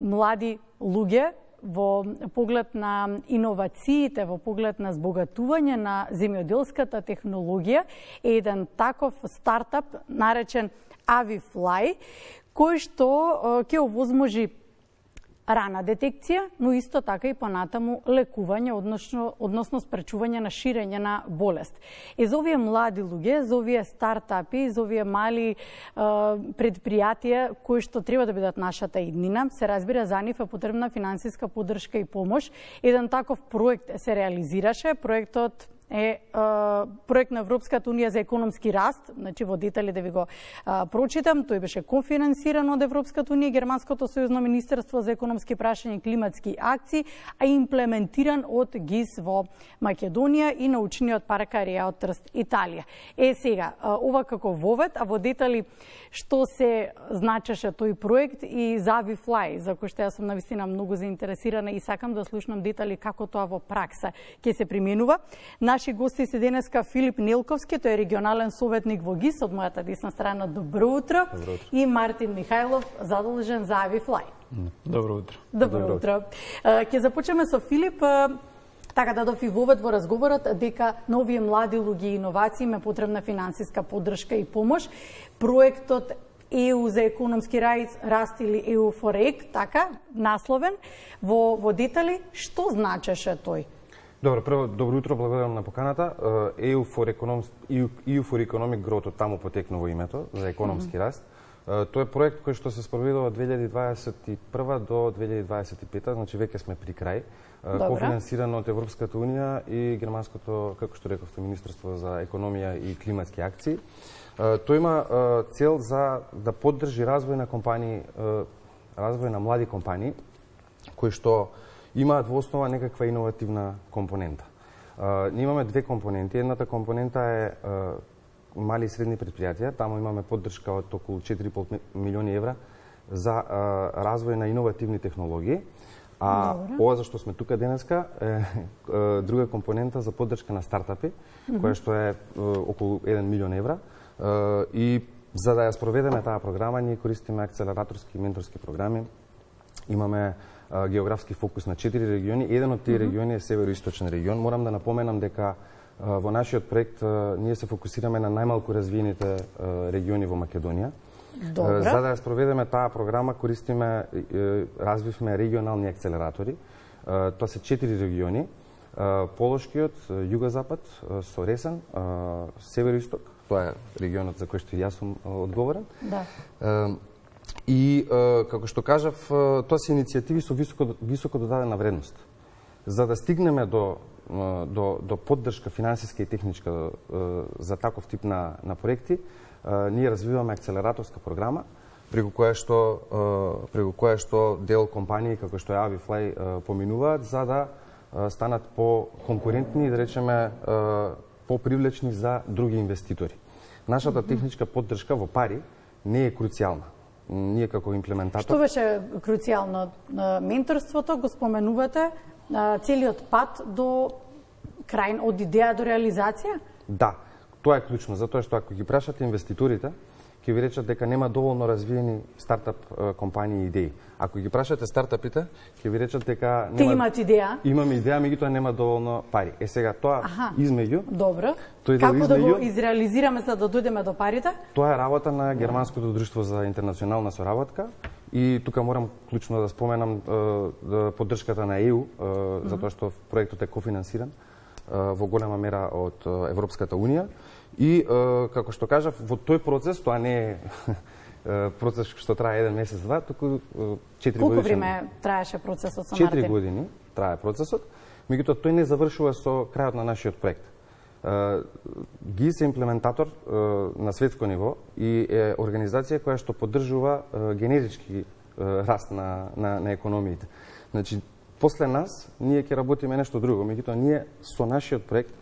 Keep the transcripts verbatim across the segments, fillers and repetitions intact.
млади луѓе во поглед на иновациите, во поглед на збогатување на земјоделската технологија е еден таков стартап наречен AviFly, кој што ќе овозможи рана детекција, но исто така и понатаму лекување, односно, односно спречување на ширење на болест. И за овие млади луѓе, за овие стартапи, за овие мали е, предпријатија кои што треба да бидат нашата иднина, се разбира за нив е потребна финансиска поддршка и помош. Еден таков проект се реализираше, проектот е, е проект на Европската унија за економски раст, значи во детали да ви го е, прочитам, тој беше конфинансиран од Европската унија, Германското сојузно министерство за економски прашања и климатски акции, а имплементиран од ГИС во Македонија и научниот парк Ареа од Трст, Италија. Е сега, ова како вовед, а во детали што се значеше тој проект и за AviFly, за кој што јас сум навистина многу заинтересирана и сакам да слушнам детали како тоа во пракса ќе се применува. Наши гости се денеска Филип Нелковски, тој е регионален советник во ГИС, од мојата десна страна. Добро утро. Добро утро. И Мартин Михајлов, задолжен за AviFly. Добро утро. Добро, Добро утро. Ќе започнеме со Филип. Така дадов и вовед во разговорот дека на овие млади луѓе и иновации ме потребна финансиска поддршка и помош. Проектот Е У за економски раст или Е У for Ec, така, насловен, во, во детали, што значеше тој? Добро, прво, добро утро, благодарам на поканата. Е У for Economic Growth, таму потекнува името, за економски mm -hmm. раст. Тоа е проект кој што се спроведува од две илјади дваесет и прва до две илјади дваесет и пета, значи веќе сме при крај. Добре. Кофинансиран од Европската унија и Германското, како што рековте, Министерство за економија и климатски акции. Тој има цел за да поддржи развој на компании, развој на млади компании, кои што имаат во основа некаква иновативна компонента. Ние имаме две компоненти. Едната компонента е мали и средни предпријатија. Таму имаме поддршка од околу четири и пол милиони евра за развој на иновативни технологии. А Добре. Ова за што сме тука денеска е, е друга компонента за поддршка на стартапи, mm -hmm. која што е, е околу еден милион евра. Е, и за да ја спроведеме таа програма, ние користиме акцелераторски и менторски програми. Имаме е, географски фокус на четири региони. Еден од тие mm -hmm. региони е североисточен регион. Морам да напоменам дека е, во нашиот проект е, ние се фокусираме на најмалку развиените е, региони во Македонија. Добре. За да ја спроведеме таа програма, користиме, развивме регионални акцелератори. Тоа се четири региони. Полошкиот, Југозапад, со Ресен, Североисток, тоа е регионот за кој што јас сум одговорен. Да. И, како што кажав, тоа се иницијативи со високо, високо додадена вредност. За да стигнеме до, до, до поддршка финансиска и техничка за таков тип на, на проекти, ние развиваме акцелераторска програма, преку која што, преку која што дел компании како што е AviFly поминуваат за да станат по-конкурентни и да речеме по-привлечни за други инвеститори. Нашата техничка поддршка во пари не е круцијална. Ние како имплементатор... Што беше круцијално? Менторството го споменувате, целиот пат до крај, од идеја до реализација? Да. Тоа е клучно, затоа што ако ги прашате инвеститорите, ќе ви речат дека нема доволно развиени стартап компании и идеи. Ако ги прашате стартапите, ќе ви речат дека нема... Те имаат идеја? Имаме идеја, меѓутоа нема доволно пари. Е сега тоа Аха. измеѓу... Добро. Тој Како измеѓу, да го изреализираме за да дојдеме до парите? Тоа е работа на Германското друштво за интернационална соработка и тука морам клучно да споменам поддршката на Е У, затоа што проектот е кофинансиран во голема мера од Европската унија. И, како што кажав, во тој процес, тоа не е процес што трае еден месец, два, туку четири години. Колку време траеше процесот со Мартин? Четири години трае процесот, меѓутоа тој не завршува со крајот на нашиот проект. ГИС е имплементатор на светско ниво и е организација која што поддржува генерички раст на, на, на економиите. Значи, после нас, ние ќе работиме нешто друго, меѓутоа ние со нашиот проект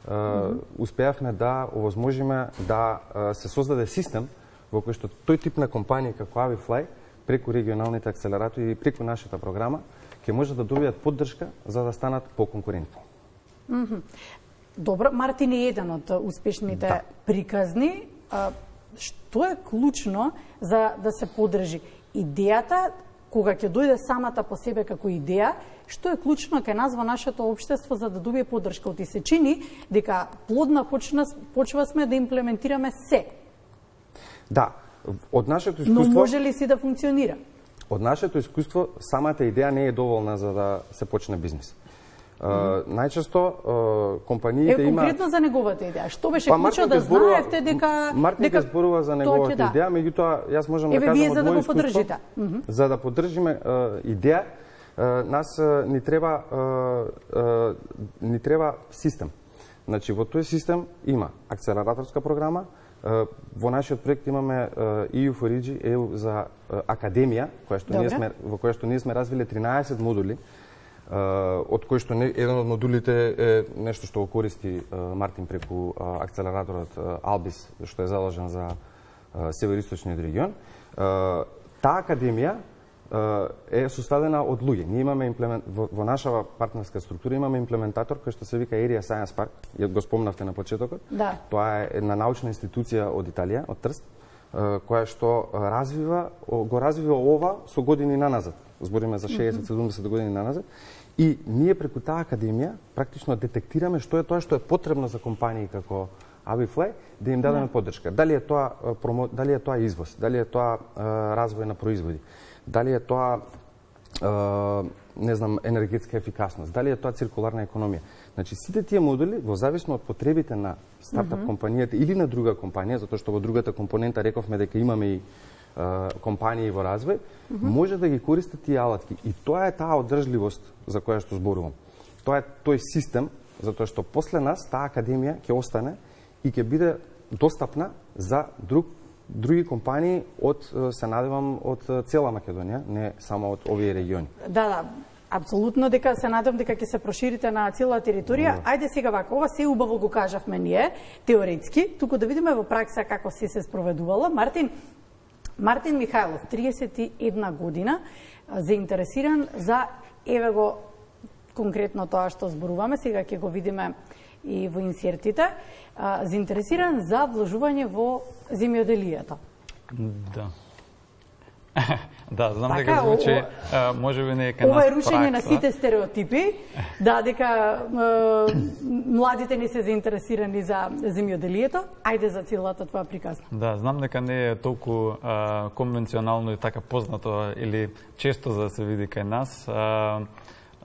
Uh, mm -hmm. успеавме да овозможиме да uh, се создаде систем во кој што тој тип на компанија како AviFly преку регионалните акцелератори и преку нашата програма ќе може да добијат поддршка за да станат поконкурентни. Mm -hmm. Добро, Мартин е еден од успешните да. приказни. Uh, што е клучно за да се поддржи идејата кога ќе дојде самата по себе како идеја, што е клучно кај нас во нашето општество за да добие поддршка? Оти се чини дека плодна почна, почва сме да имплементираме се. Да, од нашето искуство... Но може ли си да функционира? Од нашето искуство, самата идеја не е доволна за да се почне бизнес. Uh, најчесто uh, компаниите е, има... конкретно за неговата идеја. Што беше па, клучно да зборува, знаевте дека... Мартин дека... зборува за неговата да. идеја, меѓутоа, јас можам Еве, да кажам вие за од да моје го искуство, поддржите. За да поддржиме uh, идеја, uh, нас uh, ни треба uh, uh, ни треба систем. Значи, во тој систем има акселераторска програма, uh, во нашиот проект имаме uh, и ю for и джи, и ю за uh, академија, која што ние сме, во која што ние сме развиле тринаесет модули, Uh, од кој што не, еден од модулите е нешто што го користи uh, Мартин преку uh, акселераторот uh, Албис, што е заложен за uh, североисточниот регион. Uh, таа академија uh, е составена од луѓе. Ние имаме имплемент... во, во нашава партнерска структура имаме имплементатор кој што се вика Area Science Park, ја го спомнавте на почетокот. Да. Тоа е една научна институција од Италија, од Трст, uh, која што развива, го развива ова со години наназад. Збориме за шеесет седумдесет години наназад. И ние преку таа академија практично детектираме што е тоа што е потребно за компании како Avifly да им дадеме поддршка. Дали е тоа промо... дали е тоа извоз, дали е тоа е, развој на производи, дали е тоа е, не знам енергетска ефикасност, дали е тоа циркуларна економија. Значи сите тие модули во зависно од потребите на стартап mm -hmm. компанијата или на друга компанија, затоа што во другата компонента рековме дека имаме и компании во развој, mm -hmm. може да ги користат тие алатки. И тоа е таа одржливост за која што зборувам. Тоа е тој систем, затоа што после нас таа академија ќе остане и ќе биде достапна за друг, други компании од, се надевам, од цела Македонија, не само од овие региони. Да, да. Апсолутно дека се надам дека ќе се проширите на цела територија. Да. Ајде сега вака, ова се убаво го кажавме ние, теоретски, туку да видиме во пракса како се се спроведувало. Мартин, Мартин Михајлов, триесет и една година, заинтересиран за, еве го конкретно тоа што зборуваме, сега ќе го видиме и во инсертите, заинтересиран за вложување во земјоделието. Да. Да, знам така, дека звучи, може би не е кај нас ова е рушење на сите стереотипи, да, дека е, младите не се заинтересирани за земјоделието, ајде за целата тоа приказна. Да, знам дека не е толку а, конвенционално и така познато или често за да се види кај нас. А,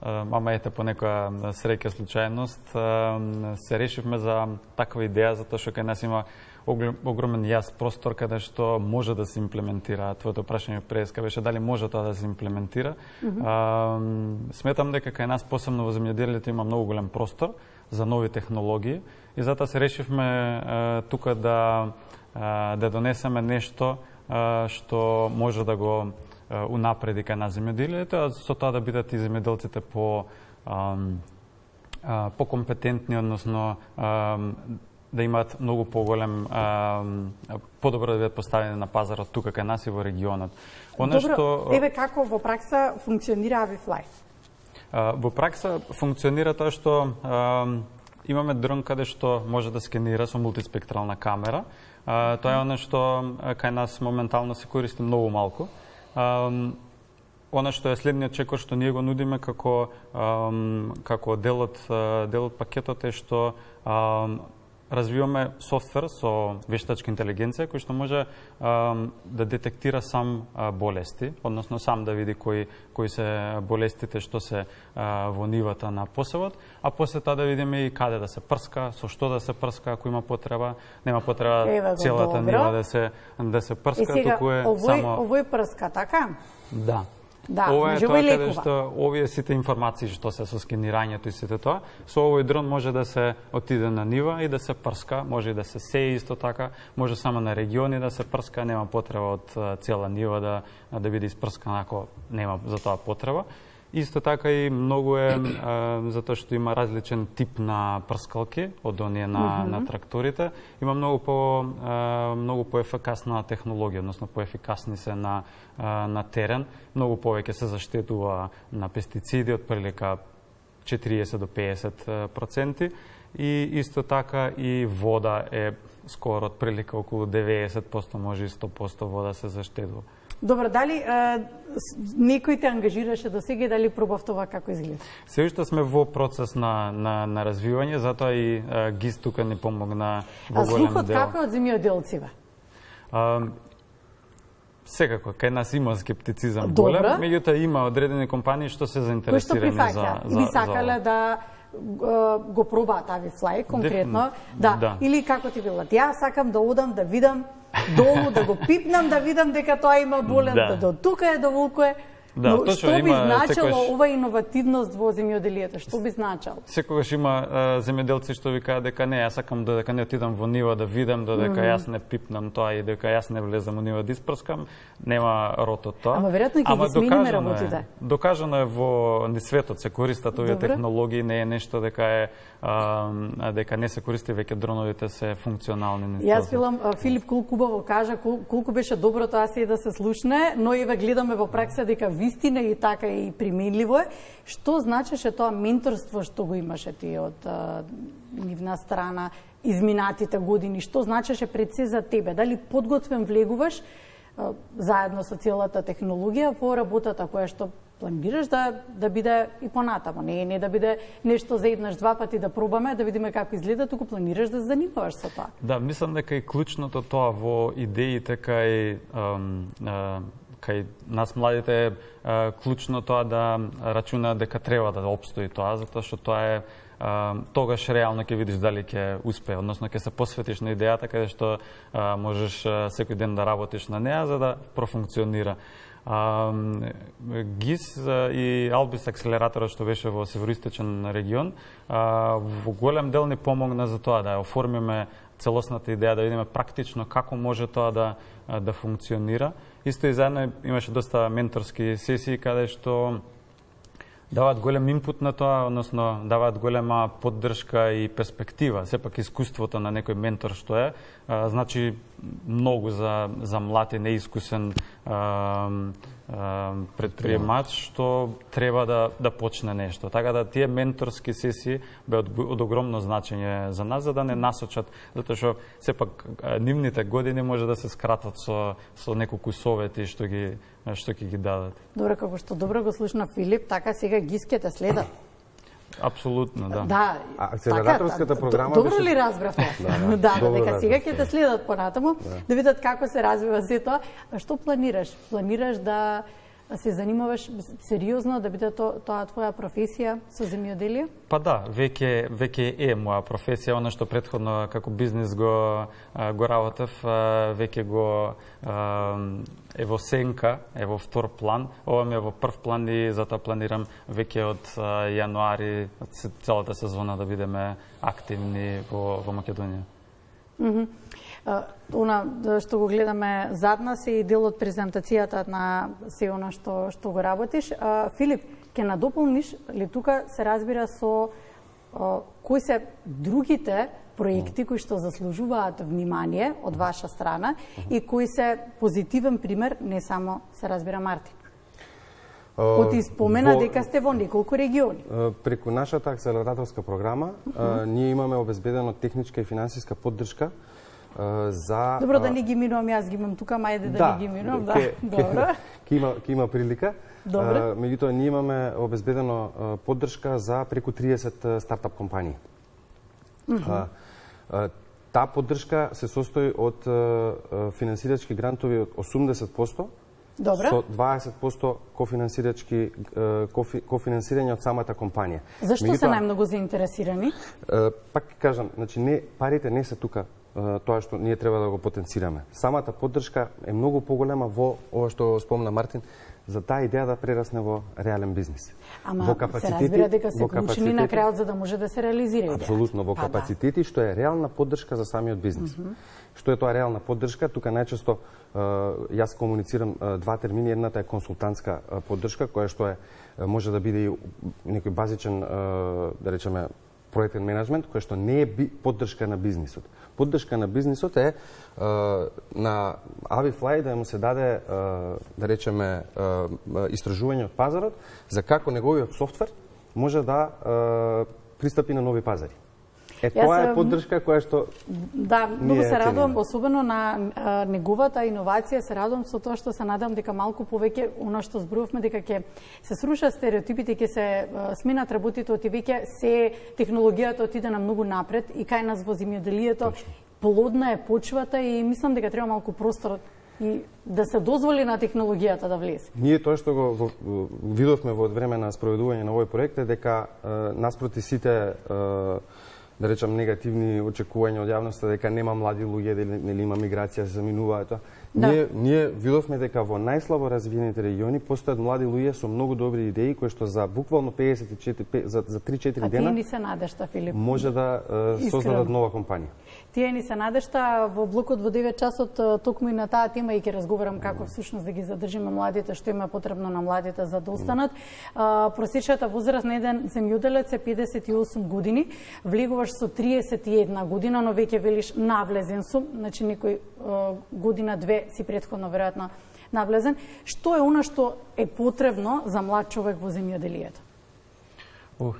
а, мама ете по некоја среќа случајност а, се решивме за таква идеја, затоа што кај нас има огромен јас простор каде што може да се имплементира. Твоето прашање преска беше дали може тоа да се имплементира. Mm -hmm. а, сметам дека кај нас, посебно во земјоделието, има многу голем простор за нови технологии и затоа се решивме а, тука да, а, да донесеме нешто а, што може да го а, унапреди кај нас земјоделието, а со тоа да бидат и земјоделците по, а, а, по компетентни, односно а, да имаат многу поголем, подобро да бидат поставени на пазарот тука кај нас и во регионот. Она Добро, што еве како во пракса функционира Avifly? Во пракса функционира тоа што а, имаме дрон каде што може да скенира со мултиспектрална камера. А, тоа е она што кај нас моментално се користи многу малку. А, Она што е следниот чекор што ние го нудиме како како дел од дел од пакетот е што а, развиваме софтвер со вештачка интелигенција кој што може а, да детектира сам а, болести, односно сам да види кои кои се болестите што се а, во нивата на посевот, а после тоа да видиме и каде да се прска, со што да се прска ако има потреба, нема потреба Ева, целата добро. нива да се да се прска, сега, туку е овој, само овој прска, така? Да. Да, ова е може тоа и каде лекува. што овие сите информации што се со скенирањето и сите тоа, со овој дрон може да се отиде на нива и да се прска, може и да се сее исто така, може само на региони да се прска, нема потреба од цела нива да да биде испрскана ако нема за тоа потреба. Исто така и многу е а, затоа што има различен тип на прскалки од оние на, mm -hmm. на тракторите, има многу по а, многу поефикасна технологија, односно поефикасни се на а, на терен, многу повеќе се заштедува на пестициди од прилика четириесет до пеесет проценти и исто така и вода е скоро од прилика околу деветдесет проценти, може и сто проценти вода се заштедува. Добро, дали е, некој те ангажираше до сега и дали пробав това како изгледа? Се уште сме во процес на, на, на развивање, затоа и е, ГИС тука ни помогна во голем дел. А слухот како од земјоделците? Секако, кај нас има скептицизам голем, меѓутоа има одредени компании што се заинтересирани за, за, за... Би сакале да го пробаат Avifly конкретно, да. да. Или како ти било, јас сакам да одам да видам долу, да го пипнам, да видам дека тоа има болен, да, да до тука е, до волку е. Да, но што би значило секогаш... ова иновативност во земјоделието? Што би значило? Секогаш има а, земјоделци што ви кажат дека не, јас сакам додека не отидам во нива да видам, додека mm -hmm. јас не пипнам тоа и дека јас не влезам во нива да испрскам, нема род од тоа. Ама веројатно ќе ги смениме работите. Докажано е во ни светот се користат овие технологии, не е нешто дека е а, дека не се користи, веќе дроновите се функционални. Јас филам Филип колку убаво кажа, колку беше добро тоа се да се слушне, но и ве гледаме во пракса дека вистина и така и применливо е. Што значеше тоа менторство што го имаше ти од а, нивна страна изминатите години? Што значеше пред се за тебе? Дали подготвен влегуваш а, заедно со целата технологија во работата која што планираш да да биде и понатамо? Не не да биде нешто за еднаш два пати да пробаме, да видиме како изгледа, туку планираш да се занимаваш со тоа. Да, мислам дека и клучното тоа во идеите кај ам, а, кај нас младите е клучно тоа да рачуна дека треба да обстои тоа, затоа што тоа е а, тогаш реално ќе видиш дали ќе успее, односно ќе се посветиш на идејата каде што а, можеш а, секој ден да работиш на неа за да профункционира. А, ГИС и Албис акселераторот што беше во североисточен регион а, во голем дел ни помогна за тоа да оформиме целосната идеја, да видиме практично како може тоа да да функционира. Исто и заедно имаше доста менторски сесии каде што даваат голем инпут на тоа, односно даваат голема поддршка и перспектива. Сепак искуството на некој ментор што е, а, значи многу за за млад и неискусен а, а, предприемач што треба да да почне нешто. Така да тие менторски сесии бе од, од огромно значење за нас за да не насочат, затоа што сепак нивните години може да се скратат со со неколку совети што ги што ќе ги дадат. Добро, како што добро го слушна Филип, така сега ГИС ќе те следат. Апсолутно, да. Да. А акселераторската програма добро беше... ли разбравте? Да, да, да, дека сега ќе те следат понатаму, да. да видат како се развива се тоа. А што планираш? Планираш да се занимаваш сериозно, да биде то, тоа твоја професија со земјоделие? Па да, веќе веќе е моја професија, она што претходно како бизнис го го работев, веќе го е во сенка, е во втор план. Ова ми е во прв план и затоа планирам веќе од јануари целата сезона да бидеме активни во во Македонија. Mm -hmm. Uh, она што го гледаме зад нас е и дел од презентацијата на се она што што го работиш. Uh, Филип, ќе надополниш ли тука се разбира со uh, кои се другите проекти кои што заслужуваат внимание од ваша страна и кои се позитивен пример, не само се разбира Мартин? Ко ти спомена во, дека сте во неколку региони. Преку нашата акселераторска програма uh -huh. ние имаме обезбедено техничка и финансиска поддршка за... Добро, да не ги минувам, јас ги имам тука, мајде да, да не ги минувам. Да, ке, добро. Ке има, ке има прилика. Добро. Меѓутоа, ние имаме обезбедено поддршка за преку триесет стартап компании. Uh -huh. а, таа поддршка се состои од финансирачки грантови од осумдесет проценти, Добре. Со дваесет проценти кофинансирачки кофи, кофинансирање од самата компанија. Зашто Меѓутоа, се најмногу заинтересирани? Пак кажам, значи не парите не се тука тоа што ние треба да го потенцираме. Самата поддршка е многу поголема во ова што спомна Мартин, за таа идеја да прерасне во реален бизнес. Ама во капацитети, се разбира дека се клучни на крајот за да може да се реализира идеја. Апсолутно, во капацитети што е реална поддршка за самиот бизнес. Mm -hmm. Што е тоа реална поддршка? Тука најчесто јас комуницирам два термини. Едната е консултантска поддршка, која што е може да биде и некој базичен, да речеме, проектен менеджмент, кој што не е поддршка на бизнисот. Поддршка на бизнисот е на Avifly да му се даде, да речеме, истражување од пазарот за како неговиот софтвер може да пристапи на нови пазари. Е, тоа е поддршка која што Да, многу се радувам, особено на а, неговата иновација, се радувам со тоа што се надам дека малку повеќе оно што зборувавме дека ќе се срушат стереотипите, ќе се а, сменат работите, оти веќе се технологијата отиде на многу напред и кај нас во земјоделието плодна е почвата и мислам дека треба малку простор и да се дозволи на технологијата да влезе. Ние тоа што го, го, го видовме во време на спроведување на овој проект е дека е, наспроти сите е, да речам негативни очекувања од јавноста дека нема млади луѓе, нели има миграција, се заминуваат тоа. Да. Ние ние видовме дека во најслабо развиените региони постојат млади луѓе со многу добри идеи кои што за буквално педесет и четири за за три-четири дена. А тие ни се надешта, Филип. Може да е, создадат нова компанија. Тие ни се надешта. Во блокот во девет часот токму и на таа тема и ќе разговарам како всушност да ги задржиме младите, што има потребно на младите за да останат. А, просечната возраст на еден земјоделец е педесет и осум години. Влегуваш со триесет и една година, но веќе велиш навлезен сум, значи некој година две си претходно веројатно навлезен. Што е она што е потребно за млад човек во земјоделието? Ух,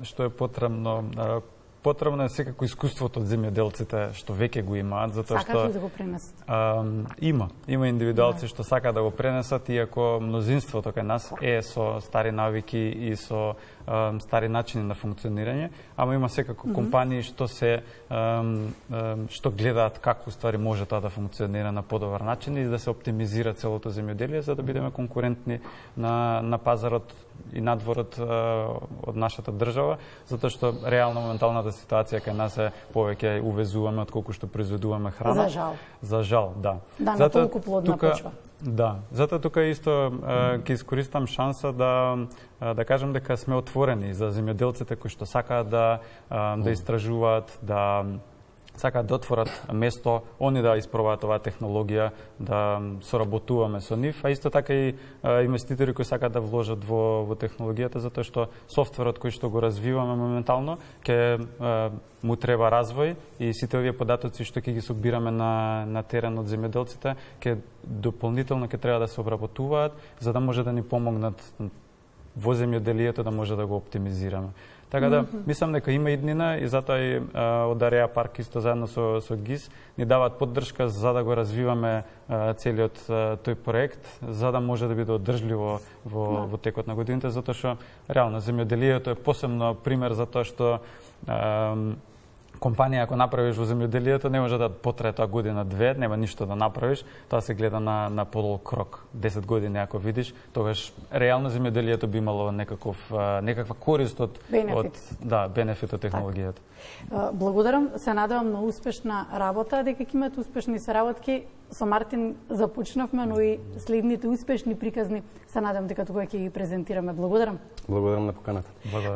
што е потребно? Потребно е секако искуството од земјоделците што веќе го имаат, затоа што сакаат ли да го пренесат? А, има, има индивидуалци што сакаат да го пренесат, иако мнозинството кај нас е со стари навики и со а, стари начини на функционирање, ама има секако mm -hmm. компании што се а, а, што гледаат како ствари може тоа да функционира на подобар начин и да се оптимизира целото земјоделие за да бидеме конкурентни на на пазарот и надворот а, од нашата држава, затоа што реално моменталната ситуација кај нас е повеќе увезуваме отколку што произведуваме храна. За жал. За жал, да. Да, на толку плодна тука, почва. Да, затоа тука исто ќе искористам шанса да да кажам дека сме отворени за земјоделците кои што сакаат да да истражуваат, да сакаат да отворат место, они да испробаат оваа технологија, да соработуваме со нив, а исто така и инвеститори кои сакаат да вложат во во технологијата, затоа што софтверот кој што го развиваме моментално ќе му треба развој и сите овие податоци што ќе ги собираме на на терен од земјоделците ќе дополнително ќе треба да се обработуваат за да може да ни помогнат во земјоделието да може да го оптимизираме. Така да, мислам дека има иднина и затоа и а, од Ареа парк исто заедно со, со ГИС ни даваат поддршка за да го развиваме а, целиот а, тој проект, за да може да биде одржливо во, да. во текот на годините, затоа што реално земјоделието е посебно пример за тоа што а, компанија ако направиш во земјоделието не може да потрае тоа година две, нема ништо да направиш, тоа се гледа на на подолг рок. десет години ако видиш, тогаш реално земјоделието би имало некаков некаква корист од бенефит. од да, бенефит од технологијата. Так. Благодарам, се надевам на успешна работа, дека ќе имате успешни соработки. Со Мартин започнавме, но и следните успешни приказни се надевам дека тогаш ќе ги презентираме. Благодарам. Благодарам на поканата. Благодарам.